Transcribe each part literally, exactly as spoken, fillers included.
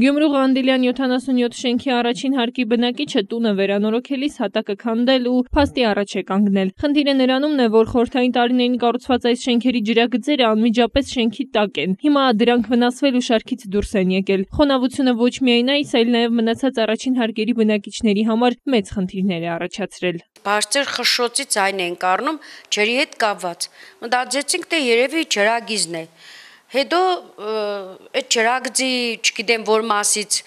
Գյումրու Ղանդիլյան յոթանասունյոթ շենքի առաջին հարկի բնակիչը տունը վերանորոգելիս հատակը քանդել ու փաստի առաջ է կանգնել։ Խնդիրը նրանումն է, որ խորհրդային տարիներին կառուցված այս շենքերի ջրագծերը անմիջապես շենքի տակ են։ Հիմա դրանք վնասվել ու շարքից դուրս են եկել։ Խոնավությունը ոչ միայն այս, այլ նաև մնացած առաջին հարկերի բնակիչների համար մեծ խնդիրներ է առաջացրել։ Բարձր խշշոցի ձայն ենք առնում ջրի հետ կապված։ Մտածեցինք, թե երևի ջրագիզն է։ Հետո այդ ջրագծի, չգիտեմ որ մասից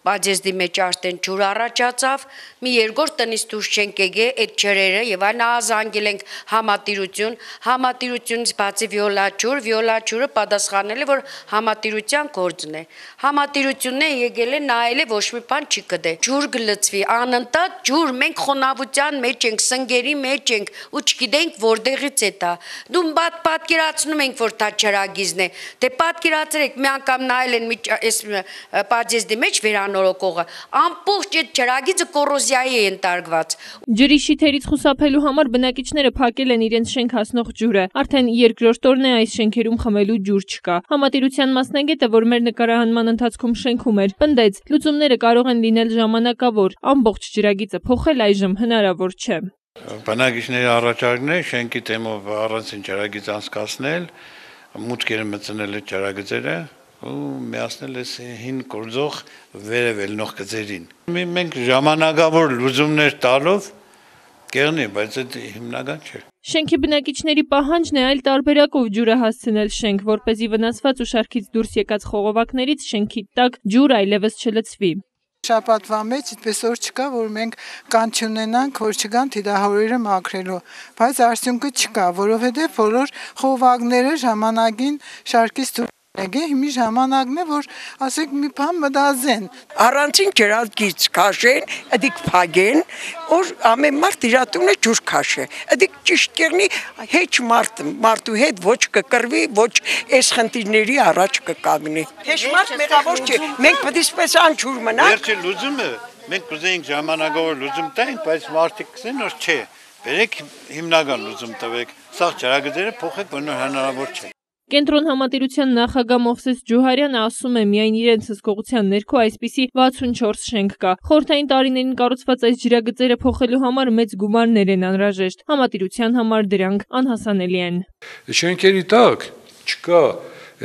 բաժեզդի մեջ արդեն ջուր առաջացավ, մի երկրորդ տնից դուրս չենք եկել այդ ջրերը եւ այն ազանգել ենք համատիրություն, համատիրությունից բացի վիոլաչուր, վիոլաչուրը պատասխանել է որ համատիրության գործն է։ Համատիրությունն է եկել է նայել է ոչ մի բան չի կդե։ Ջուր գլծվի, անընդհատ ջուր, մենք խոնավության մեջ ենք, սնգերի մեջ ենք ու չգիտենք որտեղից է դա։ Դու բադ պատկերացնում ենք որ դա ջրագիզն է։ Դե պատկերացրեք մի անգամ նայել են այս բաժեզդի մեջ վերանորոգողը ամբողջ այդ ջրագիծը կոռոզիայի է ընտարգված։ Ջրի շիթերից խուսափելու համար բնակիչները փակել են իրենց շենք հասնող ջուրը։ Արդեն երկրորդ օրն է այս շենքերում խմելու ջուր չկա։ Համատիրության մասնագետը, որ մեր նկարահանման ընթացքում շենքում էր, պնդեց, լուծումները կարող են լինել ժամանակավոր, ամբողջ ջրագիծը փոխել այժմ հնարավոր չէ։ Բնակիչների առաջարկն է շենքի թեմով առանցին ջրագիծ անցկացնել, մուտքերը մտցնել այդ ջրագծերը ու միացնել այս հին գործող վերևելնող գծերին։ Մենք ժամանակավոր լուծումներ տալով կերնի, բայց այդ հիմնական չէ։ Շենքի բնակիչների պահանջն է այլ տարբերակով ջուրը հասցնել շենք, որպեսզի վնասված ու շարքից դուրս եկած խողովակներից շենքի տակ ջուր այլևս չլցվի։ Շաբաթվա մեջ այդպես օր չկա, որ մենք կան չունենանք, որ չգան թիդահորերը մաքրելու, բայց արդյունքը չկա, որովհետև բոլոր խողովակները ժամանակին շարքից դուրս Հիմի ժամանակն է, որ ասեք մի բան մտածեն։ Առանցին ջրագիծ քաշեն, ըդիկ փագեն, որ ամեն մարդ իր տունը ջուր քաշե։ Ըդիկ ճիշտ կերնի հեչ մարդ մարդու հետ ոչ կկրվի, ոչ այս խնդիրների առաջ կկանգնի։ Հեչ մարդ մեղավոր չէ, մենք պետք է սպես անջուր մնանք։ Վերջի լուծումը մենք կուզեինք ժամանակավոր լուծում տանք, բայց մարդիկ կսեն որ չէ։ Բերեք հիմնական լուծում տվեք։ Սա ջրագծերը փոխեք, որ հնարավոր չէ։ Կենտրոն համատիրության նախագահ Մովսես Ջուհարյանը ասում է, միայն իրենց հսկողության ներքո այսպիսի վաթսունչորս շենք կա։ Խորհրդային տարիներին կառուցված այս ջրագծերը փոխելու համար մեծ գումարներ են անհրաժեշտ։ Համատիրության համար դրանք անհասանելի են։ Շենքերի տակ չկա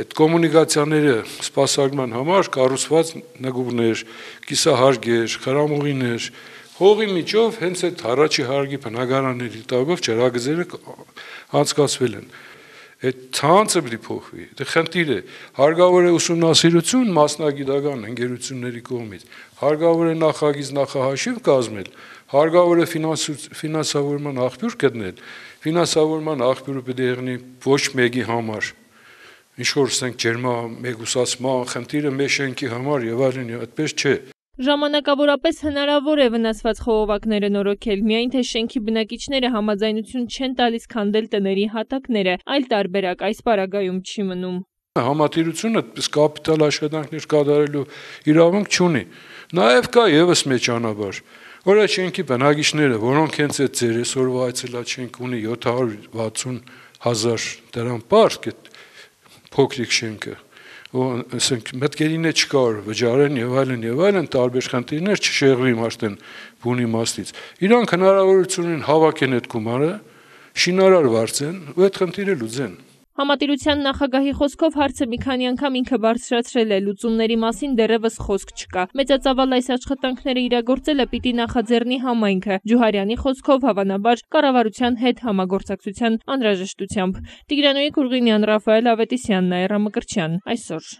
այդ կոմունիկացիաները սպասարկման համար կառուցված նգուղներ, կիսահարգեր, խրամուղիներ, հողի միջով հենց այդ առաջի հարգի բնակարանների տակով ջրագծերը անցկացվել են։ Այդ ցանցը պիտի փոխվի։ Դա խնդիր է։ Հարկավոր է ուսումնասիրություն մասնագիտական ընկերությունների կողմից։ Հարկավոր է նախագիծ նախահաշիվ կազմել, հարկավոր է ֆինանսավորման աղբյուր գտնել։ Ֆինանսավորման աղբյուրը պիտի եղնի ոչ մեկի համար։ Ինչ որ ասենք ջերմա մեգուսացման խնդիրը մեր շենքի համար եւ այլն, այդպես չէ։ Ժամանակավորապես հնարավոր է վնասված խողովակները նորոգել, միայն թե շենքի բնակիչները համաձայնություն չեն տալիս քանդել տների հատակները, այլ տարբերակ այս պարագայում չի մնում։ Համատիրությունը այդպես կապիտալ աշխատանքներ կատարելու իրավունք չունի։ Նաև կա եւս մեծ ճանապարհ, որ այդ շենքի բնակիչները, որոնք հենց այդ ձեր այսօրվա այցելած շենք ունի յոթ հարյուր վաթսուն հազար դրամ պարկ, այդ փոքրիկ շենքը ասենք մտքերին է չկար վճարեն եւ այլն եւ այլն տարբեր խնդիրներ չշեղվի մարդեն բունի մաստից իրանք հնարավորություն ունեն հավաքեն այդ գումարը շինարար վարձեն ու այդ խնդիրը լուծեն։ Համատիրության նախագահի խոսքով հարցը մի քանի անգամ ինքը բարձրացրել է, լուծումների մասին դեռևս խոսք չկա։ Մեծածավալ այս աշխատանքները իրագործելը պիտի նախաձեռնի համայնքը։ Ջուհարյանի խոսքով հավանաբար կառավարության հետ համագործակցության անհրաժեշտությամբ։ Տիգրանոյի Կուրգինյան, Ռաֆայել Ավետիսյան, Նաիրա Մկրտչյան, այսօր։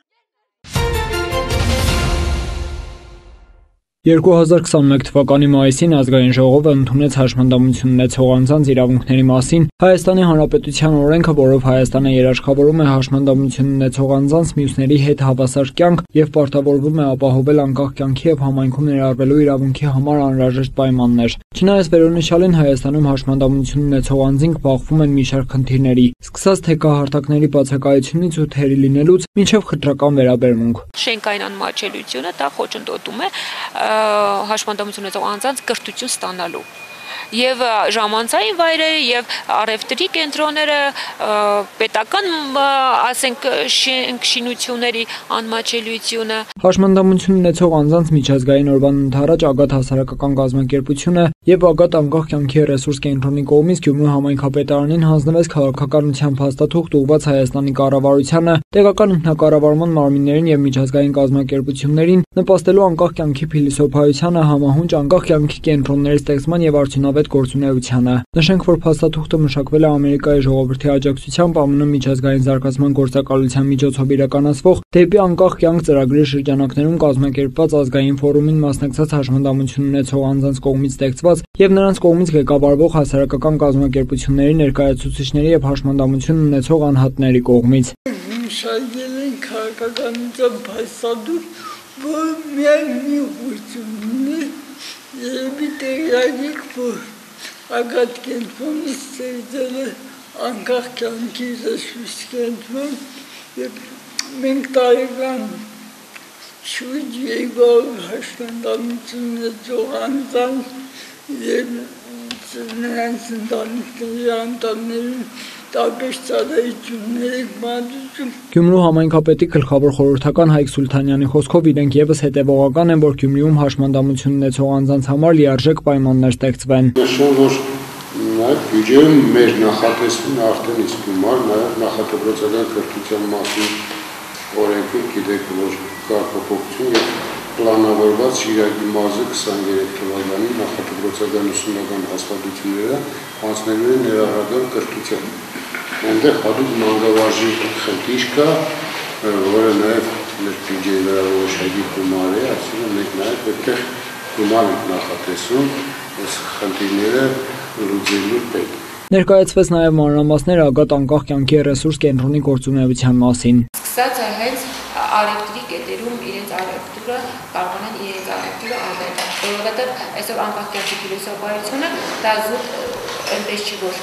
երկու հազար քսաներկու թվականի մայիսին ազգային ժողովը ընդունեց հաշմանդամություն ունեցող անձանց իրավունքների մասին Հայաստանի Հանրապետության օրենքը, որով Հայաստանը երաշխավորում է հաշմանդամություն ունեցող անձանց մյուսների հետ հավասար կյանք եւ պարտավորվում է ապահովել անկախ կյանքի եւ համայնքում ներառվելու իրավունքի համար անհրաժեշտ պայմաններ։ Չնայած վերոնշյալին Հայաստանում հաշմանդամություն ունեցող անձինք բախվում են մի շարք խնդիրների, սկսած թեկահարտակների բացակայությունից ու թերի լինելուց մինչև խտրական վերաբերմունք։ Շենքային անմաչելիությունը դա խոչընդոտում է հաշմանդամություն ունեցող անձանց կրթություն ստանալու։ եւ ժամանցային վայրերը եւ առևտրի կենտրոնները, պետական, ասենք, շինությունների անմաչելիությունը։ Հաշմանդամություն ունեցող անձանց միջազգային օրվան ընթരാճ ԱԳԱՏ հասարակական կազմակերպությունը եւ ԱԳԱՏ անկախ կյանքի ռեսուրս կենտրոնի կողմից Գյումրու համայնքապետարանին հանձնվեց քաղաքականության փաստաթուղթ ուղղված Հայաստանի կառավարությանը, տեղական ինքնակառավարման մարմիններին եւ միջազգային կազմակերպություններին, նպաստելու անկախ կյանքի փիլիսոփայությանը, համահունչ անկախ կյանքի կենտրոնների ստեղծման եւ արդյունավետ գործունեությանը։ Նշենք, որ փաստաթուղթը մշակվել է Ամերիկայի ժողովրդի աջակցությամբ ԱՄՆ միջազգային զարգացման գործակալության միջոցով իրականացվող «Դեպի անկախ կյանք» ծրագրի շրջանակներում կազմակերպված ազգային ֆորումին մասնակցած հաշմանդամություն ունեցող անձանց կողմից ստեղծված եւ նրանց կողմից ղեկավարվող հասարակական կազմակերպությունների ներկայացուցիչների եւ հաշմանդամություն ունեցող անհատների կողմից։ Շարժել են քաղաքականության փաստաթուղթ, որ միայն մի ուղղությունն է, եւ տեղյակ, որ ԱԳԱՏ կենտրոնը ստեղծել է անկախ կյանքի ռեսուրս կենտրոն, եւ մենք տարեկան շուրջ երկու հաշմանդամություն ունեցող անձանց եւ նրանց ընտանիքների անդամներին տարբեր ծառայություններ ենք մատուցում։ Գյումրու համայնքապետի գլխավոր խորհրդական Հայկ Սուլթանյանի խոսքով իրենք եւս հետեւողական են, որ Գյումրիում հաշմանդամություն ունեցող անձանց համար լիարժեք պայմաններ ստեղծվեն։ Նշում, որ նաեւ բյուջեում մեր նախատեսվում արդեն իսկ գումար, նաեւ նախատեսական կրթության մասին օրենքին գիտեք, որ կա փոփոխություն եւ պլանավորված Շիրակի մարզը քսաներեք թվականի նախատեսական ուսումնական հաստատությունները հանձնելու են ներառական կրթության։ Այնտեղ հատուկ մանկավարժի խնդիր կա, որը նաև մեր բյուջեի վրա որոշակի գումար է, այսինքն մենք նաև պետք է գումար ենք նախատեսում այս խնդիրները լուծելու պետք։ Ներկայացվեց նաև մանրամասներ ԱԳԱՏ անկախ կյանքի ռեսուրս կենտրոնի գործունեության մասին։ Սկսած է հենց առևտրի կետերում իրենց առևտուրը կարողանան իրենց առևտուրը անել, որովհետև այսօր անկախ կյանքի փիլիսոփայությունը դա զուտ այնպես չի, որ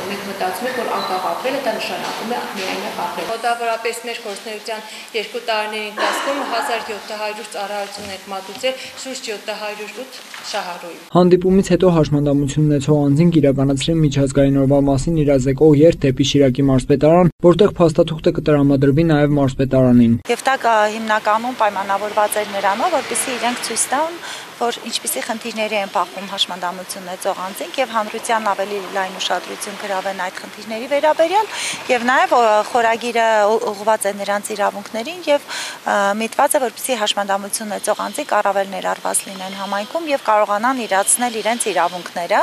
մենք մտածում ենք, որ անկախ ապրելը դա նշանակում է միայն ապրել։ Մոտավորապես մեր գործունեության երկու տարիների ընթացքում հազար յոթ հարյուր ծառայություն ենք մատուցել, շուրջ յոթ հարյուր ութ շահառուի։ Հանդիպումից հետո հաշմանդամություն ունեցող անձինք իրականացրին միջազգային օրվա մասին իրազեկող երթ դեպի Շիրակի մարզպետարան, որտեղ փաստաթուղթը կտրամադրվի նաև մարզպետարանին։ Եվ դա հիմնականում պայմանավորված էր նրանով, որպեսզի իրենք ցույց տան, որ ինչպիսի խնդիրների են բախվում հաշմանդամություն ունեցող անձինք եւ հանրության ավելի լայն ուշադրություն գրավեն այդ խնդիրների վերաբերյալ եւ նաեւ խորագիրը ուղղված է նրանց իրավունքներին եւ միտված է, որպեսզի հաշմանդամություն ունեցող անձինք առավել ներառված լինեն համայնքում եւ կարողանան իրացնել իրենց իրավունքները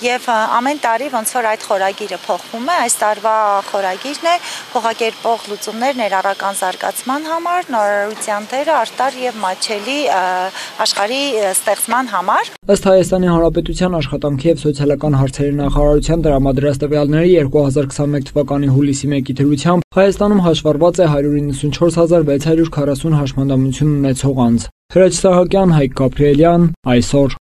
եւ ամեն տարի ոնց որ այդ խորագիրը փոխվում է, այս տարվա խորագիրն է փոխակերպող լուծումներ ներառական զարգացման համար, նորարարության դերը արտար եւ մատչելի աշխարհի ստեղծման համար։ Ըստ Հայաստանի Հանրապետության աշխատանքի եւ սոցիալական հարցերի նախարարության տրամադրած տվյալների երկու հազար քսաներեք թվականի հուլիսի մեկի դրությամբ Հայաստանում հաշվառված է հարյուր իննսունչորս հազար վեց հարյուր քառասուն հաշմանդամություն ունեցող անձ։ Հրաչ Սահակյան, Հայկ Գաբրիելյան, այսօր։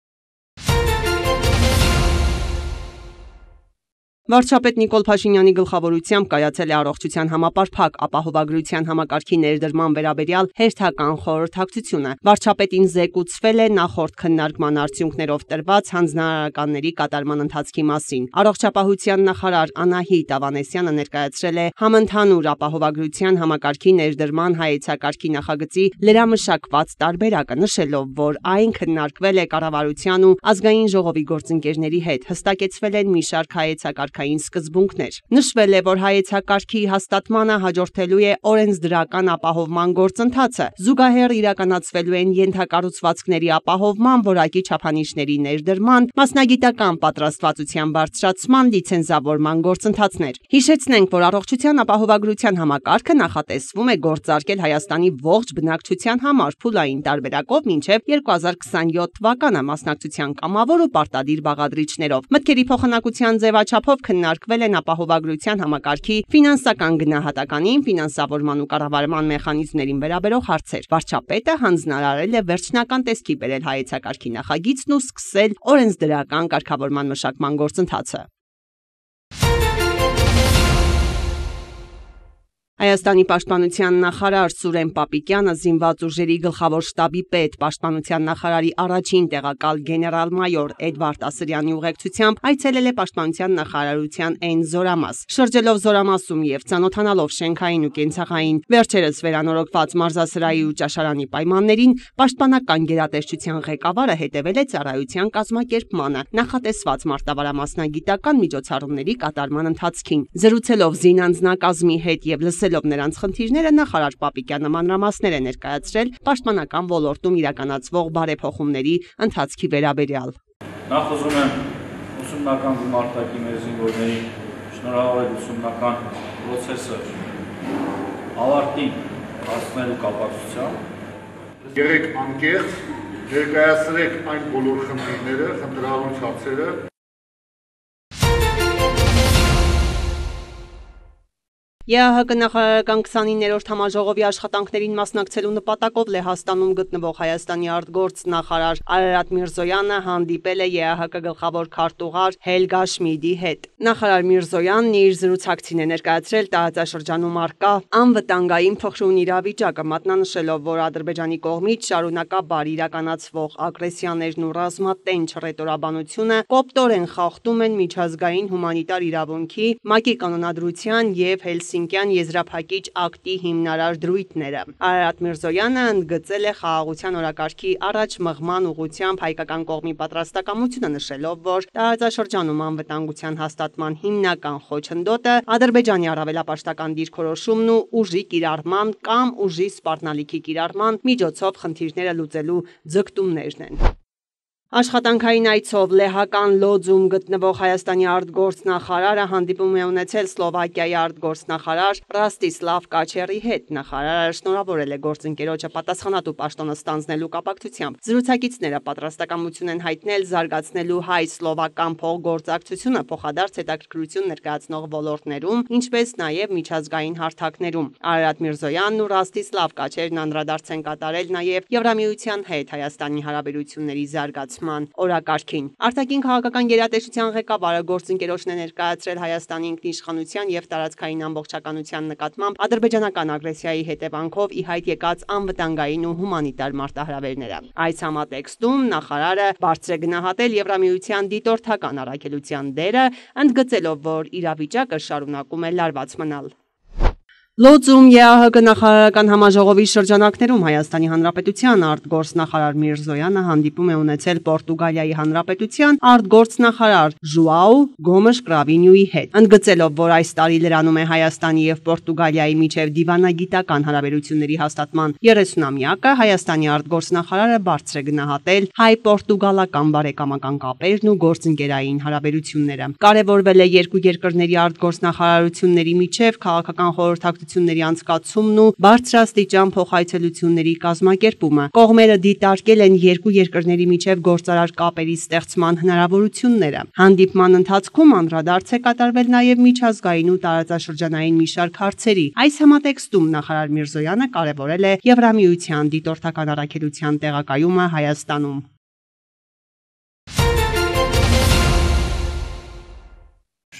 Վարչապետ Նիկոլ Փաշինյանի գլխավորությամբ կայացել է առողջության համապարփակ ապահովագրության համակարգի ներդրման վերաբերյալ հերթական խորհրդակցությունը։ Վարչապետին զեկուցվել է նախորդ քննարկման արդյունքներով տրված հանձնարարականների կատարման ընթացքի մասին։ Առողջապահության նախարար Անահիտ Ավանեսյանը ներկայացրել է համընդհանուր ապահովագրության համակարգի ներդրման հայեցակարգի նախագծի լրամշակված տարբերակը, նշելով, որ այն քննարկվել է կառավարության ու ազգային ժողովի գործընկերների հետ, հստակեցվել են մի շարք հայեցակարգ սկզբունքներ։ Նշվել է, որ հայեցակարգի հաստատմանը հաջորդելու է օրենսդրական ապահովման գործընթացը, զուգահեռ իրականացվելու են ենթակառուցվածքների ապահովման, որակի չափանիշների ներդրման, մասնագիտական պատրաստվածության բարձրացման, լիցենզավորման գործընթացներ։ Հիշեցնենք, որ առողջության ապահովագրության համակարգը նախատեսվում է գործարկել Հայաստանի ողջ բնակչության համար փուլային տարբերակով մինչև երկու հազար քսաներեք թվականը մասնակցության կամավոր ու պարտադիր բաղադրիչներով։ Մտքերի փոխանակության ձևաչափով քննարկվել են ապահովագրության համակարգի ֆինանսական գնահատականին, ֆինանսավորման ու կառավարման մեխանիզմներին վերաբերող հարցեր։ Վարչապետը հանձնարարել է վերջնական տեսքի բերել հայեցակարգի նախագիծն ու սկսել օրենսդրական կարգավորման մշակման գործընթացը։ Հայաստանի պաշտպանության նախարար Սուրեն Պապիկյանը, զինված ուժերի գլխավոր շտաբի պետ, պաշտպանության նախարարի առաջին տեղակալ գեներալ-մայոր Էդվարդ Ասրյանի ուղեկցությամբ այցելել է պաշտպանության նախարարության Էն զորամաս։ Շրջելով զորամասում եւ ծանոթանալով շենքային ու կենցաղային վերջերս վերանորոգված մարզասրահի ու ճաշարանի պայմաններին, պաշտպանական գերատեսչության ղեկավարը հետևել է ծառայության կազմակերպմանը, նախատեսված մարտավարամասնագիտական միջոցառումների կատարման ընթացքին։ Զրուցելով զինանձնակազմի հետ եւ լսելով նրանց խնդիրները, նախարար Պապիկյանը մանրամասներ է ներկայացրել պաշտպանական ոլորտում իրականացվող բարեփոխումների ընթացքի վերաբերյալ։ Նախ ուզում եմ ուսումնական գումարտակի մեր զինվորների շնորհավորել ուսումնական process-ը ավարտին հասնելու կապակցությամբ։ Եղեք անկեղծ, ներկայացրեք այն բոլոր խնդիրները, խնդրահարույց հարցերը։ ԵԱՀԿ նախարարական քսանիններորդ համաժողովի աշխատանքներին մասնակցելու նպատակով Լեհաստանում գտնվող Հայաստանի արտգործ նախարար Արարատ Միրզոյանը հանդիպել է ԵԱՀԿ գլխավոր քարտուղար Հելգա Շմիդի հետ։ Նախարար Միրզոյանն իր զրուցակցին է ներկայացրել տարածաշրջանում առկա անվտանգային փխրուն իրավիճակը, մատնանշելով, որ Ադրբեջանի կողմից շարունակաբար իրականացվող ագրեսիաներն ու ռազմատենչ ռետորաբանությունը կոպտորեն խախտում են միջազգային հումանիտար իրավունքի, ՄԱԿ-ի կանոնադրության եւ Հելսինկյան եզրափակիչ ակտի հիմնարար դրույթները։ Արարատ Միրզոյանը ընդգծել է խաղաղության օրակարգի առաջ մղման ուղղությամբ հայկական կողմի պատրաստակամությունը, նշելով, որ տարածաշրջանում անվտանգության հաստատման հիմնական խոչընդոտը Ադրբեջանի առավելապաշտական դիրքորոշումն ու ուժի կիրառման կամ ուժի սպառնալիքի կիրառման միջոցով խնդիրները լուծելու ձգտումներն են։ Աշխատանքային այցով լեհական Լոձում գտնվող Հայաստանի արտգործնախարարը հանդիպում է ունեցել Սլովակիայի արտգործնախարար Ռաստիսլավ Կաչերի հետ։ Նախարարը շնորհավորել է գործընկերոջը պատասխանատու պաշտոնը ստանձնելու կապակցությամբ։ Զրուցակիցները պատրաստակամություն են հայտնել զարգացնելու հայ-սլովական փոխգործակցությունը փոխադարձ հետաքրքրություն ներկայացնող ոլորտներում, ինչպես նաև միջազգային հարթակներում։ Արարատ Միրզոյանն ու Ռաստիսլավ Կաչերն անդրադարձ են կատարել նաև Եվրամիության հետ Հայաստանի հարաբերությունների զարգացման օրակարգին։ Արտաքին քաղաքական գերատեսչության ղեկավարը գործընկերոջն է ներկայացրել Հայաստանի ինքնիշխանության եւ տարածքային ամբողջականության նկատմամբ ադրբեջանական ագրեսիայի հետևանքով ի հայտ եկած անվտանգային ու հումանիտար մարտահրավերները։ Այս համատեքստում նախարարը բարձր է գնահատել Եվրամիության դիտորդական առաքելության դերը, ընդգծելով, որ իրավիճակը շարունակում է լարված մնալ։ Լոձում ԵԱՀԿ նախարարական համաժողովի շրջանակներում Հայաստանի Հանրապետության արտգործնախարար Միրզոյանը հանդիպում է ունեցել Պորտուգալիայի Հանրապետության արտգործնախարար Ժուաու Գոմեշ Կրավինյուի հետ, ընդգծելով, որ այս տարի լրանում է Հայաստանի եւ Պորտուգալիայի միջև դիվանագիտական հարաբերությունների հաստատման երեսունամյակը, Հայաստանի արտգործնախարարը բարձր է գնահատել հայ-պորտուգալական բարեկամական կապերն ու գործընկերային հարաբերությունները։ Կարևորվել է երկու երկրների արտգործնախարարությունների միջև քաղաքական խորհրդակցություն անցկացումն ու բարձրաստիճան փոխայցելությունների կազմակերպումը։ Կողմերը դիտարկել են երկու երկրների միջև գործարար կապերի ստեղծման հնարավորությունները։ Հանդիպման ընթացքում անդրադարձ է կատարվել նաև միջազգային ու տարածաշրջանային մի շարք հարցերի։ Այս համատեքստում նախարար Միրզոյանը կարևորել է Եվրամիության դիտորդական առաքելության տեղակայումը Հայաստանում։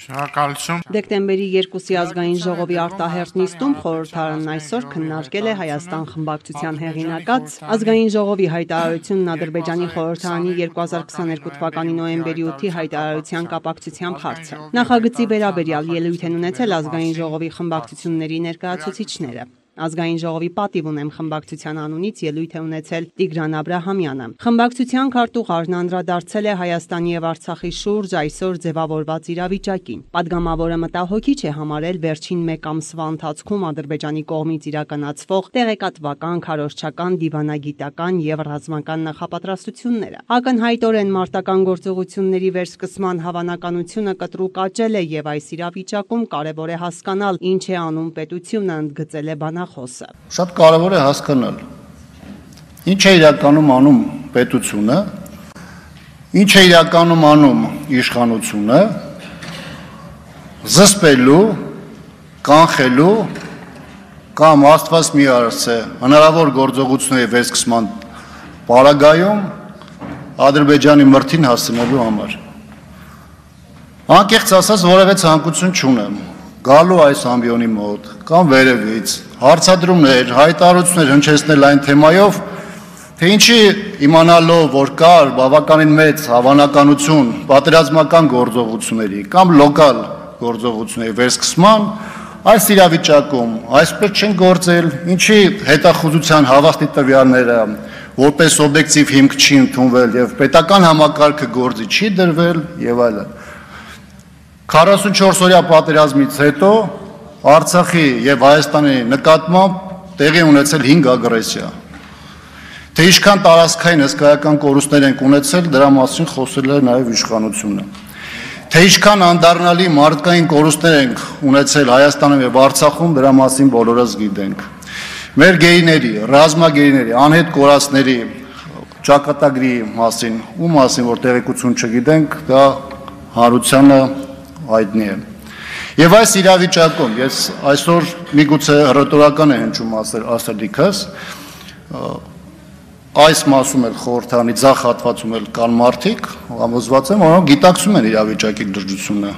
Դեկտեմբերի երկուսի ազգային ժողովի արտահերթ նիստում խորհրդարանն այսօր քննարկել է Հայաստան խմբակցության հեղինակած ազգային ժողովի հայտարարությունն Ադրբեջանի խորհրդարանի երկու հազար քսաներկու թվականի նոյեմբերի ութի հայտարարության կապակցությամբ հարցը։ Նախագծի վերաբերյալ ելույթ են ունեցել ազգային ժողովի խմբակցությունների ներկայացուցիչները։ Ազգային ժողովի պատիվ ունեմ խմբակցության անունից ելույթ է ունեցել Տիգրան Աբրահամյանը։ Խմբակցության քարտուղարն անդրադարձել է Հայաստանի եւ Արցախի շուրջ այսօր ձևավորված իրավիճակին։ Պատգամավորը մտահոգիչ է համարել վերջին մեկ ամսվա ընթացքում Ադրբեջանի կողմից իրականացվող տեղեկատվական, քարոզչական, դիվանագիտական եւ ռազմական նախապատրաստությունները։ Ակնհայտորեն մարտական գործողությունների վերսկսման հավանականությունը կտրուկ աճել է եւ այս իրավիճակում կարեւոր է հասկանալ ինչ է անում պետությունը, ընդգծել է բանախոսը։ Շատ կարևոր է հասկանալ ինչ է իրականում անում պետությունը, ինչ է իրականում անում իշխանությունը զսպելու, կանխելու կամ Աստված մի արարցե հնարավոր գործողությունների վերսկսման պարագայում Ադրբեջանի մրթին հասնելու համար։ Անկեղծ ասած որևէ ցանկություն չունեմ գալու այս ամբիոնի մոտ կամ վերևից հարցադրումներ, հայտարարություններ հնչեցնել այն թեմայով, թե ինչի իմանալով, որ կար բավականին մեծ հավանականություն պատերազմական գործողությունների կամ լոկալ գործողությունների վերսկսման, այս իրավիճակում այսպես չեն գործել, ինչի հետախուզության հավաստի տվյալները որպես օբյեկտիվ հիմք չի ընդունվել եւ պետական համակարգը գործի չի դրվել եւ այլն։ քառասունչորս օրյա պատերազմից հետո Արցախի եւ Հայաստանի նկատմամբ տեղի ունեցել հինգ ագրեսիա։ Թե ինչքան տարածքային հսկայական կորուստներ են ունեցել, դրա մասին խոսել է նաեւ իշխանությունը։ Թե ինչքան անդառնալի մարդկային կորուստներ ենք ունեցել Հայաստանում եւ Արցախում, դրա մասին բոլորս գիտենք։ Մեր գերիների, ռազմագերիների, անհետ կորածների ճակատագրի մասին, ու մասին, որ տեղեկություն չգիտենք, դա հանրությանը հայտնի է։ Եվ այս իրավիճակում ես այսօր միգուցե հռետորական է հնչում ասելիքս, այս մասում էլ խորհրդանի ձախ հատվածում էլ կան մարդիկ, համոզված եմ, որոնք գիտակցում են իրավիճակի լրջությունը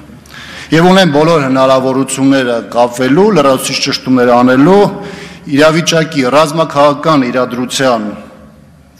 եւ ունեն բոլոր հնարավորությունները կապվելու, լրացուցիչ ճշտումներ անելու, իրավիճակի ռազմաքաղաքական իրադրության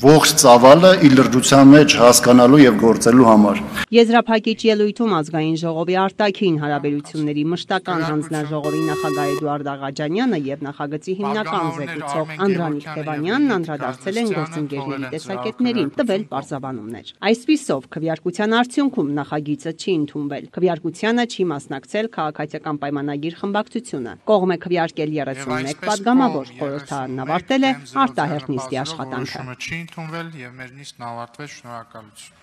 ողջ ծավալը իր լրջության մեջ հասկանալու եւ գործելու համար։ Եզրափակիչ ելույթում ազգային ժողովի արտաքին հարաբերությունների մշտական հանձնաժողովի նախագահ Էդուարդ Աղաջանյանը եւ նախագծի հիմնական զեկուցող Անդրանիկ Թևանյանն անդրադարձել են գործընկերների տեսակետներին, տվել պարզաբանումներ։ Այսպիսով, քվեարկության արդյունքում նախագիծը չի ընդունվել։ Քվեարկությանը չի մասնակցել քաղաքացիական պայմանագիր խմբակցությունը։ Կողմ է քվեարկել երեսունմեկ պատգամավոր, խորհրդարանն ավարտել է արտահերթ նիստի աշխատանքը։ Ընդունվել եւ մեր նիստն ավարտվեց, շնորհակալություն։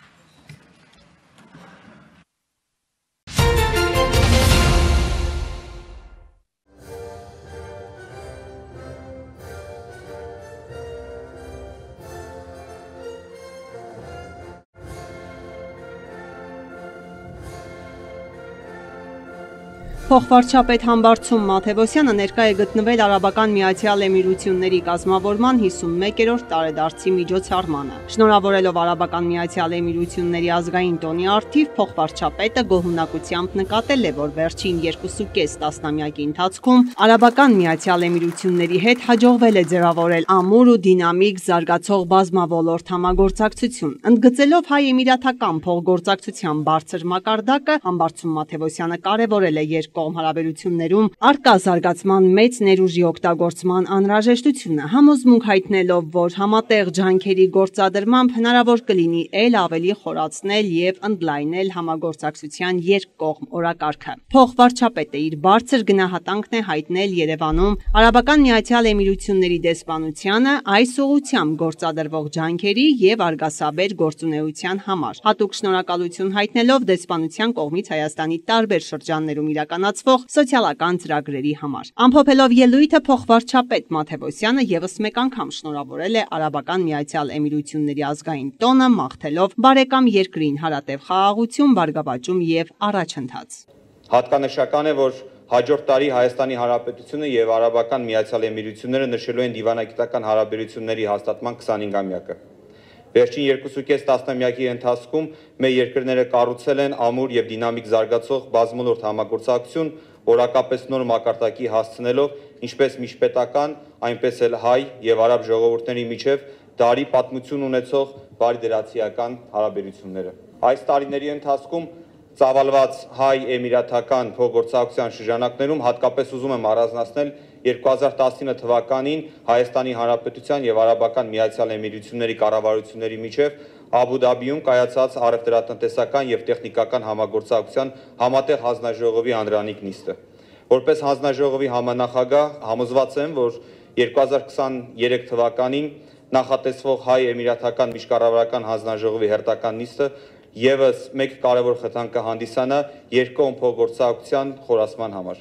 Փոխվարչապետ Համբարձում Մաթևոսյանը ներկա է գտնվել Արաբական Միացյալ Էմիրությունների կազմավորման հիսունմեկերորդ տարեդարձի միջոցառմանը։ Շնորհավորելով Արաբական Միացյալ Էմիրությունների ազգային տոնի առթիվ, փոխվարչապետը գոհունակությամբ նկատել է, որ վերջին երկուսուկես տասնամյակի ընթացքում Արաբական Միացյալ Էմիրությունների հետ հաջողվել է ձևավորել ամուր ու դինամիկ զարգացող բազմավոլորտ համագործակցություն։ Ընդգծելով հայ-էմիրատական փոխգործակցության բարձր մակարդակը, Համբարձում Մաթևոսյանը կարևորել է երկկողմ հարաբերություններում առկա զարգացման մեծ ներուժի օգտագործման անհրաժեշտությունը, համոզմունք հայտնելով, որ համատեղ ջանքերի գործադրմամբ հնարավոր կլինի ել ավելի խորացնել եւ ընդլայնել համագործակցության երկկողմ օրակարգը։ Փոխվարչապետը իր բարձր գնահատանքն է հայտնել Երևանում Արաբական Միացյալ Էմիրությունների դեսպանությանը այս ուղղությամբ գործադրվող ջանքերի եւ արգասաբեր գործունեության համար։ Հատուկ շնորհակալություն հայտնելով դեսպանության կողմից Հայաստանի տարբեր շրջաններում իրականացվող սոցիալական ծրագրերի համար։ Ամփոփելով ելույթը, փոխվարչապետ Մաթևոսյանը եւս մեկ անգամ շնորհավորել է Արաբական Միացյալ Էմիրությունների ազգային տոնը, մաղթելով բարեկամ երկրին հարատև խաղաղություն, բարգավաճում եւ առաջընթաց։ Հատկանշական է, որ հաջորդ տարի Հայաստանի Հանրապետությունը եւ Արաբական Միացյալ Էմիրությունները նշելու են դիվանագիտական հարաբերությունների հաստատման քսանհինգամյակը։ Վերջին երկուսուկես տասնամյակի ընթացքում մեր երկրները կառուցել են ամուր եւ դինամիկ զարգացող բազմոլորտ համագործակցություն, օրակապես նոր մակարդակի հասցնելով ինչպես միջպետական, այնպես էլ հայ եւ արաբ ժողովուրդների միջև դարի պատմություն ունեցող բարիդրացիական հարաբերությունները։ Այս տարիների ընթացքում ծավալված հայ-էմիրատական փոխգործակցության շրջանակներում հատկապես ուզում եմ առանձնացնել երկու հազար տասնինը թվականին Հայաստանի Հանրապետության եւ Արաբական Միացյալ Էմիրությունների կառավարությունների միջև Աբու Դաբիում կայացած առևտրատնտեսական եւ տեխնիկական համագործակցության համատեղ հանձնաժողովի անդրանիկ նիստը։ Որպես հանձնաժողովի համանախագահ համոզված եմ, որ երկու հազար քսաներեք թվականին նախատեսվող հայ-էմիրատական միջկառավարական հանձնաժողովի հերթական նիստը եւս մեկ կարևոր խթան կհանդիսանա երկկողմ փոխգործակցության խորացման համար։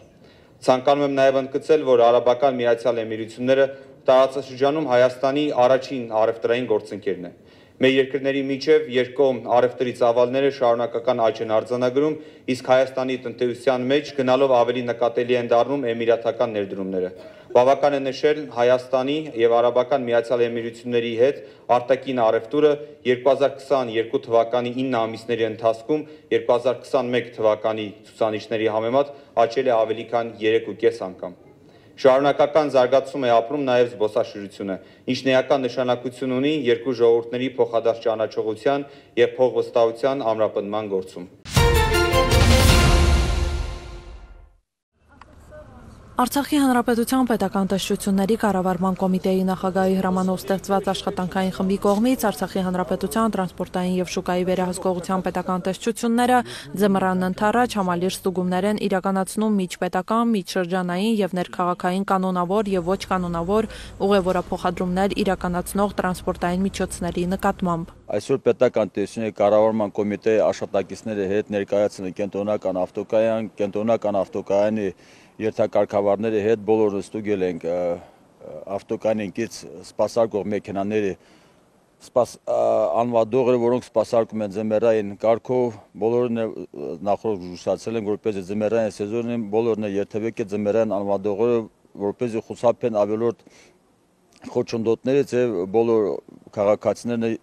Ցանկանում եմ նաև ընդգծել, որ Արաբական Միացյալ Էմիրությունները տարածաշրջանում Հայաստանի առաջին առևտրային գործընկերն է։ Մեր երկրների միջև երկկողմ առևտրի ծավալները շարունակական աճ են արձանագրում, իսկ Հայաստանի տնտեսության մեջ գնալով ավելի նկատելի են դառնում էմիրատական ներդրումները։ Բավական է նշել Հայաստանի եւ Արաբական Միացյալ Էմիրությունների հետ արտաքին առևտուրը երկու հազար քսաներկու թվականի ինը ամիսների ընթացքում երկու հազար քսաներկու թվականի ցուցանիշների համեմատ աճել է ավելի քան երեք ու կես անգամ։ Շարունակական զարգացում է ապրում նաև զբոսաշրջությունը, ինչն էական նշանակություն ունի երկու ժողովուրդների փոխադարձ ճանաչողության եւ փոխվստահության ամրապնդման գործում։ Արցախի հանրապետության պետական տեսչությունների կառավարման կոմիտեի նախագահի հրամանով ստեղծված աշխատանքային խմբի կողմից Արցախի հանրապետության տրանսպորտային եւ շուկայի վերահսկողության պետական տեսչությունները ձմռան ընթառաջ համալիր ստուգումներ են իրականացնում միջպետական, միջշրջանային եւ ներքաղաքային կանոնավոր եւ ոչ կանոնավոր ուղևորափոխադրումներ իրականացնող տրանսպորտային միջոցների նկատմամբ։ Այսօր պետական տեսչությունների կառավարման կոմիտեի աշխատակիցների հետ ներկայացնել կենտրոնական ավտոկայան, կենտրոնական ավտոկայանի երթակարգավարների հետ բոլորը ստուգել ենք ավտոկայանից սպասարկող մեքենաների անվադողերը, որոնք սպասարկում են ձմեռային կարգով, բոլորն նախորդ զուսացել են, որպեսզի ձմեռային սեզոնին բոլորն երթևեկի ձմեռային անվադողերը, որպեսզի խուսափեն ավելորդ խոչընդոտներից եւ բոլոր քաղաքացիներն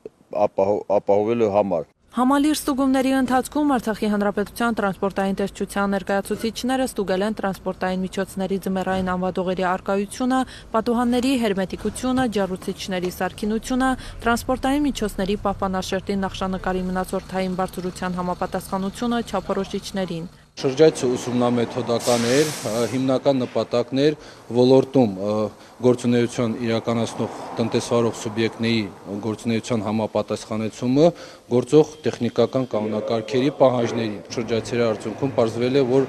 ապահովելու համար։ Համալիր ստուգումների ընթացքում Արցախի հանրապետության տրանսպորտային տեսչության ներկայացուցիչները ստուգել են տրանսպորտային միջոցների ձմեռային անվադողերի առկայությունը, պատուհանների հերմետիկությունը, ջեռուցիչների սարքինությունը, տրանսպորտային միջոցների պահպանաշերտի նախշանկարի մնացորդային բարձրության համապատասխանությունը չափորոշիչներին։ Շրջայցը ուսումնամեթոդական էր, հիմնական նպատակն էր ոլորտում գործունեություն իրականացնող տնտեսվարող սուբյեկտների գործունեության համապատասխանեցումը գործող տեխնիկական կանոնակարգերի պահանջներին։ Շրջայցերի արդյունքում պարզվել է, որ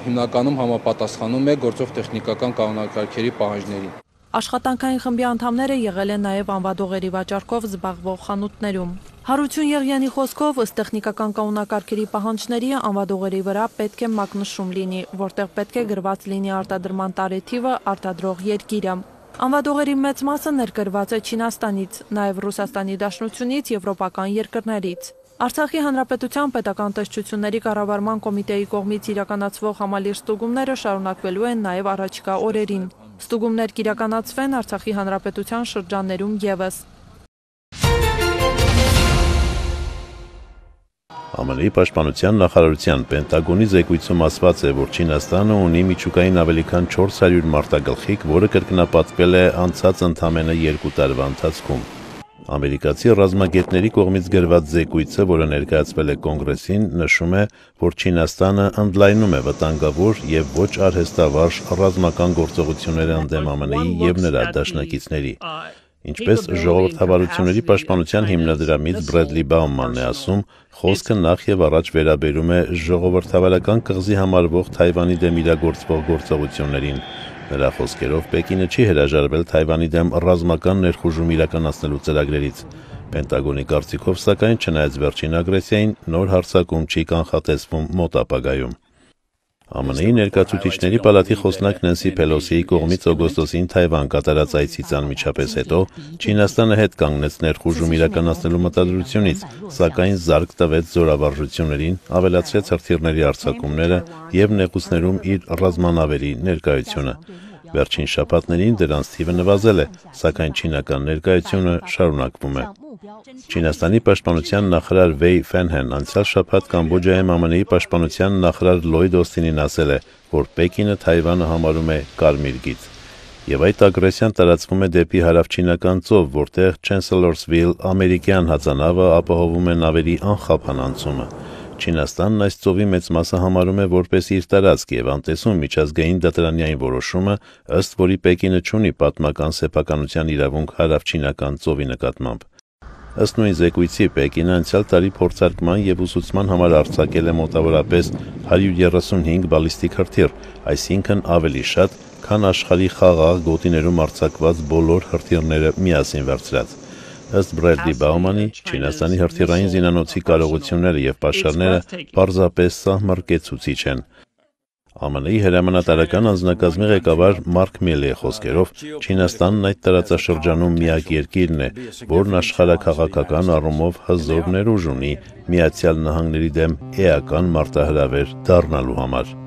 հիմնականում համապատասխանում է գործող տեխնիկական կանոնակարգերի պահանջներին։ Աշխատանքային խմբի անդամները եղել են նաև անվադողերի վաճառքով զբաղվող խանութներում։ Հարություն Եղյանի խոսքով ըստ տեխնիկական կանոնակարգերի պահանջների անվադողերի վրա պետք է մակնշում լինի, որտեղ պետք է գրված լինի արտադրման տարեթիվը, արտադրող երկիրը։ Անվադողերի մեծ մասը ներկրված է Չինաստանից, նաև Ռուսաստանի Դաշնությունից, եվրոպական երկրներից։ Արցախի հանրապետության պետական տեսչությունների կառավարման կոմիտեի կողմից իրականացվող համալիր ստուգումները շարունակվելու են նաև առաջիկա օրերին։ Ստուգումներ կիրականացվեն Արցախի հանրապետության շրջաններում ևս։ ԱՄՆ-ի պաշտպանության նախարարության Պենտագոնի զեկույցում ասված է, որ Չինաստանը ունի միջուկային ավելի քան չորս հարյուր մարտագլխիկ, որը կրկնապատկվել է անցած ընդամենը երկու տարվա ընթացքում։ Ամերիկացի ռազմագետների կողմից գրված զեկույցը, որը ներկայացվել է կոնգրեսին, նշում է, որ Չինաստանը ընդլայնում է վտանգավոր եւ ոչ արհեստավարժ ռազմական գործողությունները ընդդեմ ԱՄՆ-ի եւ նրա դաշնակիցների։ Ինչպես ժողովրդավարությունների պաշտպանության հիմնադրամից Բրեդլի Բաումանն է ասում, խոսքը նախ եւ առաջ վերաբերում է ժողովրդավարական կղզի համարվող Թայվանի դեմ իրագործվող գործողություններին։ Նրա խոսքերով Պեկինը չի հրաժարվել Թայվանի դեմ ռազմական ներխուժում իրականացնելու ծրագրերից։ Պենտագոնի կարծիքով, սակայն, չնայած վերջին ագրեսիային, նոր հարձակում չի կանխատեսվում մոտ ապագայում։ ԱՄՆ-ի ներկայացուցիչների պալատի խոսնակ Նենսի Փելոսիի կողմից օգոստոսին Թայվան կատարած այցից անմիջապես հետո Չինաստանը հետ կանգնեց ներխուժում իրականացնելու մտադրությունից, սակայն զարկ տվեց զորավարժություններին, ավելացրեց հրթիռների արձակումները եւ նեղուցներում իր ռազմանավերի ներկայությունը։ Վերջին շաբաթներին դրանց թիվը նվազել է, սակայն չինական ներկայությունը շարունակվում է։ Չինաստանի պաշտպանության նախարար Վեյ Ֆենհեն անցյալ շաբաթ Կամբոջայում ԱՄՆ-ի պաշտպանության նախարար Լլոյդ Օսթինին ասել է, որ Պեկինը Թայվանը համարում է կարմիր գիծ։ Եվ այդ ագրեսիան տարածվում է դեպի հարավչինական ծով, որտեղ Chancellorville ամերիկյան հածանավը ապահովում է նավերի անխափան անցումը։ Չինաստանն այս ծովի մեծ մասը համարում է որպես իր տարածք եւ անտեսում միջազգային դատարանային որոշումը, ըստ որի Պեկինը չունի պատմական սեփականության իրավունք հարավչինական ծովի նկատմամբ։ Ըստ նույն զեկույցի Պեկինը անցյալ տարի փորձարկման եւ ուսուցման համար արձակել է մոտավորապես հարյուր երեսունհինգ բալիստիկ հրթիռ, այսինքն ավելի շատ, քան աշխարհի խաղաղ գոտիներում արձակված բոլոր հրթիռները միասին վերցրած։ Ըստ Բրեդլի Բաումանի, Չինաստանի հրթիռային զինանոցի կարողությունները եւ պաշարները պարզապես սահմռկեցուցիչ են։ ԱՄՆ-ի հրամանատարական անձնակազմի ղեկավար Մարկ Միլիի խոսքերով, Չինաստանն այդ տարածաշրջանում միակ երկիրն է, որն աշխարհաքաղաքական առումով հզոր ներուժ ունի Միացյալ Նահանգների դեմ էական մարտահրավեր դառնալու համար։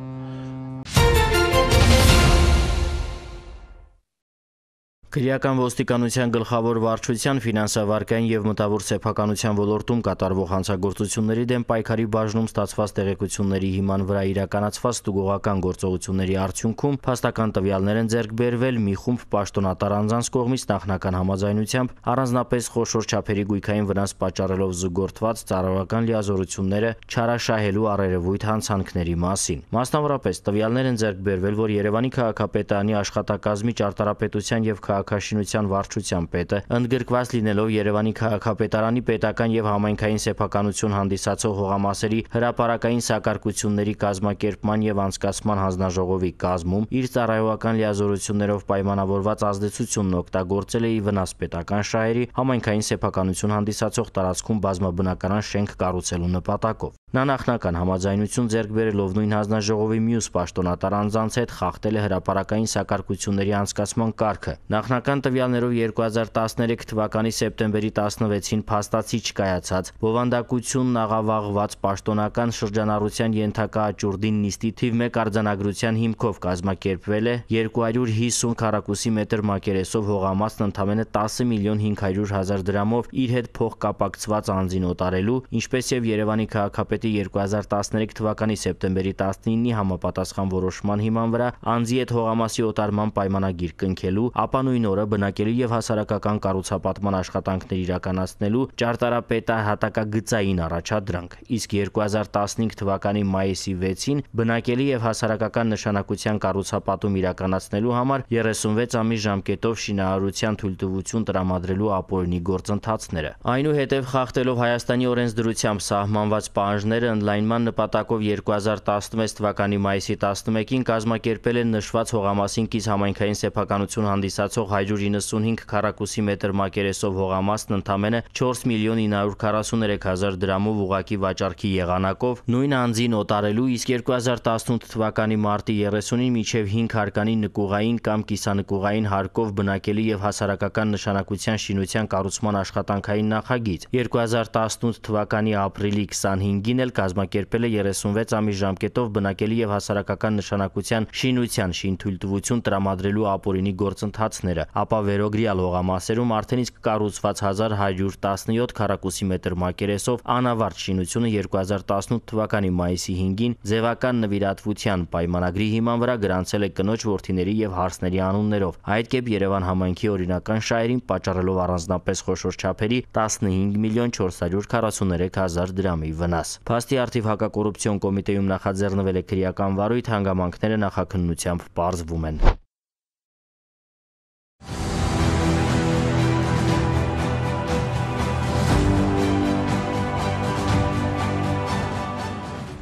Քրեական ոստիկանության գլխավոր վարչության ֆինանսավարկային եւ մտավոր սեփականության ոլորտում կատարվող հանցագործությունների դեմ պայքարի բաժնում ստացված տեղեկությունների հիման վրա իրականացված ստուգողական գործողությունների արդյունքում փաստական տվյալներ են ձեռք բերվել մի խումբ պաշտոնատար անձանց կողմից նախնական համաձայնությամբ առանձնապես խոշոր չափերի գույքային վնաս պատճառելով զուգորդված ծառայական լիազորությունները չարաշահելու առերևույթ հանցանքների մասին։ Մասնավորապես տվյալներ են ձեռք բերվել, որ Երևանի քաղաքապետարանի աշխատակազմի ճարտարապետության եւ քաղաքաշինության վարչության պետը ընդգրկված լինելով Երևանի քաղաքապետարանի պետական եւ համայնքային սեփականություն հանդիսացող հողամասերի հրապարակային սակարկությունների կազմակերպման եւ անցկացման հանձնաժողովի կազմում իր ծառայողական լիազորություններով պայմանավորված ազդեցությունն օգտագործել է ի վնաս պետական շահերի համայնքային սեփականություն հանդիսացող տարածքում բազմաբնականան շենք կառուցելու նպատակով։ Նա նախնական համաձայնություն ձեռք բերելով նույն հանձնաժողովի մյուս պաշտոնատար անձանց հետ խախտել է հրապարակային սակարկությունների անցկացման կարգը։ Նախնական տվյալներով երկու հազար տասներեք թվականի սեպտեմբերի տասնվեցին փաստացի չկայացած բովանդակությունն աղավաղված պաշտոնական շրջանառության ենթակա աճուրդին նիստի թիվ մեկ արձանագրության հիմքով կազմակերպվել է երկու հարյուր հիսուն քառակուսի մետր մակերեսով հողամասն ընդամենը տասը միլիոն հինգ հարյուր հազար դրամով իր հետ փոխկապակցված անձին օտարելու, ինչպես եւ Երևանի քաղաքապետի երկու հազար տասներեք թվականի սեպտեմբերի տասնինի համապատասխան որոշման հիման վրա անձի հետ հողամասի օտարման պայմանագիր կնքելու, ապա նույն օրը բնակելի եւ հասարակական կառուցապատման աշխատանքներ իրականացնելու ճարտարապետահատակագծային առաջադրանք, իսկ երկու հազար տասնհինգ թվականի մայիսի վեցին բնակելի եւ հասարակական նշանակության կառուցապատում իրականացնելու համար երեսունվեց ամիս ժամկետով շինարարության թույլտվություն տրամադրելու ապօրինի գործընթացները։ Այնուհետև խախտելով Հայաստանի օրենսդրությամբ սահմանված պահանջները ընդլայնման նպատակով երկու հազար տասնվեց թվականի մայիսի տասնմեկին կազմակերպել են նշված հողամասին կից համայնքային սեփականություն հանդիսացող հարյուր իննսունհինգ քառակուսի մետր մակերեսով հողամասն ընդամենը չորս միլիոն ինը հարյուր քառասուներեք հազար դրամով ուղղակի վաճառքի եղանակով նույն անձին օտարելու, իսկ երկու հազար տասնութ թվականի մարտի երեսունին մինչև հինգ հարկանի նկուղային կամ կիսանկուղային հարկով բնակելի եւ հասարակական նշանակության շինության կառուցման աշխատանքային նախագիծ։ երկու հազար տասնութ թվականի ապրիլի քսանհինգին էլ կազմակերպել է երեսունվեց ամիս ժամկետով բնակելի եւ հասարակական նշանակության շինության շինթույլտվություն տրամադրելու ապօրինի գործընթացները, ապա վերոգրյալ հողամասերում արդեն իսկ կառուցված հազար հարյուր տասնյոթ քառակուսի մետր մակերեսով անավարտ շինությունը երկու հազար տասնութ թվականի մայիսի հինգին ձևական նվիրատվության պայմանագրի հիման վրա գրանցել է կնոջ, որդիների եւ հարսների անուններով, այդ կերպ Երևան համայնքի օրինական շահերին պատճառելով առանձնապես խոշոր չափերի տասնհինգ միլիոն չորս հարյուր քառասուներեք հազար դրամի վնաս։ Փաստի առթիվ հակակոռուպցիոն կոմիտեում նախաձեռնվել է քրեական վարույթ, հանգամանքները նախաքննությամբ պարզվում են։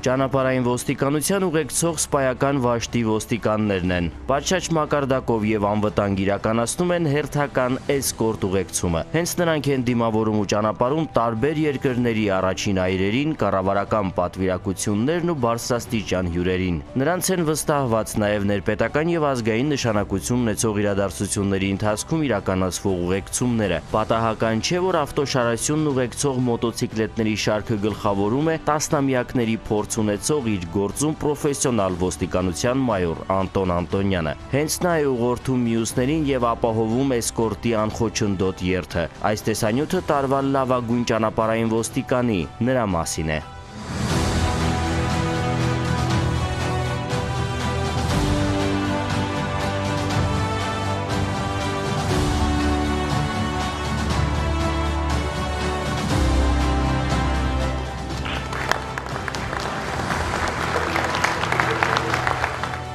Ճանապարհային ոստիկանության ուղեկցող սպայական վաշտի ոստիկաններն են։ Պատշաճ մակարդակով եւ անվտանգ իրականացնում են հերթական էսկորտ ուղեկցումը։ Հենց նրանք են դիմավորում ու ճանապարհում տարբեր երկրների առաջին այրերին, կառավարական պատվիրակություններն ու բարձրաստիճան հյուրերին։ Նրանց են վստահված նաեւ ներպետական եւ ազգային նշանակություն ունեցող իրադարձությունների ընթացքում իրականացվող ուղեկցումները։ Պատահական չէ, որ ավտոշարությունն ուղեկցող մոտոցիկլետների շարքը գլխավորում է տասնամյակների փորձ ունեցող իր գործում պրոֆեսիոնալ ոստիկանության մայոր Անտոն Անտոնյանը։ Հենց նա է ուղղորդում մյուսներին եւ ապահովում էսկորտի անխոչնդոտ երթը։ Այս տեսանյութը տարվա լավագույն ճանապարհային ոստիկանի նրա մասին է։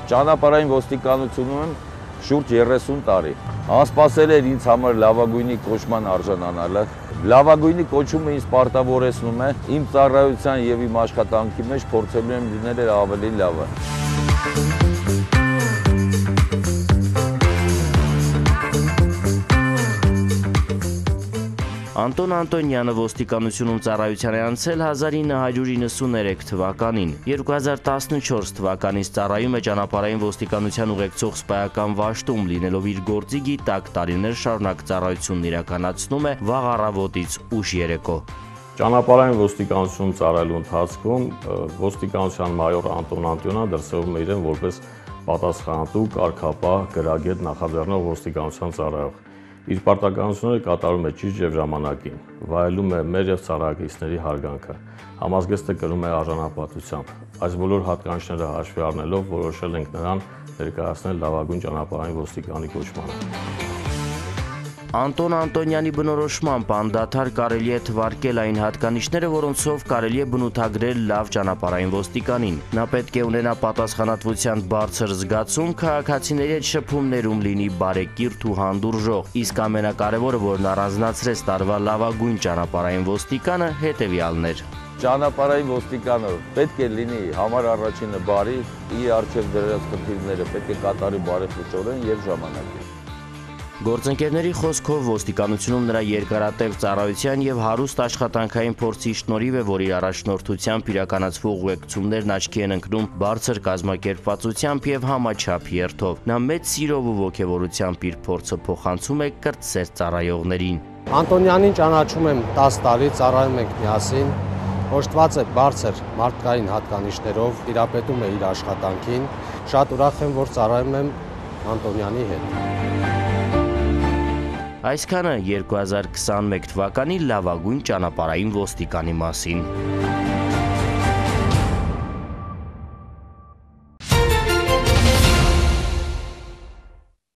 Ճանապարհային ոստիկանությունում եմ շուրջ երեսուն տարի։ Անսպասել էր ինձ համար լավագույնի կոչման արժանանալը։ Լավագույնի կոչումը ինձ պարտավորեցնում է իմ ծառայության եւ իմ աշխատանքի մեջ փորձելու եմ լինել ավելի լավը։ Անտոն Անտոնյանը ոստիկանությունում ծառայության է անցել հազար ինը հարյուր իննսուներեք թվականին։ երկու հազար տասնչորս թվականից ծառայում է ճանապարհային ոստիկանության ուղեկցող սպայական վաշտում, լինելով իր գործի գիտակ տարիներ շարունակ ծառայությունն իրականացնում է վաղ առավոտից ուշ երեկո։ Ճանապարհային ոստիկանությունում ծառայելու ընթացքում ոստիկանության մայոր Անտոն Անտոնյանը դրսևորում է իրեն որպես պատասխանատու, կարգապահ, գրագետ նախաձեռնող ոստիկանության ծառայող։ իր պարտականությունները կատարում է ճիշտ եւ ժամանակին, վայելում է մեր եւ ծառայակիցների հարգանքը, համազգեստը կրում է արժանապատվությամբ։ Այս բոլոր հատկանիշները հաշվի առնելով որոշել ենք նրան ներկայացնել լավագույն ճանապարհային ոստիկանի կոչմանը։ Անտոն Անտոնյանի բնորոշմամբ անդադար կարելի է թվարկել այն հատկանիշները, որոնցով կարելի է բնութագրել լավ ճանապարհային ոստիկանին։ Նա պետք է ունենա պատասխանատվության բարձր զգացում, քաղաքացիների հետ շփումներում լինի բարեկիրթ ու հանդուրժող, իսկ ամենակարևորը, որն առանձնացրեց տարվա լավագույն ճանապարհային ոստիկանը, հետևյալն էր։ Ճանապարհային ոստիկանը պետք է լինի համար առաջինը բարի, իր առջև դրած խնդիրները պետք է կատարի բարեփոխորեն եւ ժամանակին։ Գործընկերների խոսքով ոստիկանությունում նրա երկարատև ծառայության եւ հարուստ աշխատանքային փորձի շնորհիվ է, որ իր առաջնորդությամբ իրականացվող ուղեկցումներն աչքի են ընկնում բարձր կազմակերպվածությամբ եւ համաչափ երթով։ Նա մեծ սիրով ու ողջավորությամբ իր փորձը փոխանցում է կրտսեր ծառայողներին։ Անտոնյանին ճանաչում եմ տասը տարի, ծառայում ենք միասին, օժտված է բարձր մարդկային հատկանիշներով, տիրապետում է իր աշխատանքին, շատ ուրախ եմ, որ ծառայում եմ Անտոնյանի հետ։ Այսքանը երկու հազար քսաներկու թվականի լավագույն ճանապարհային ոստիկանի մասին։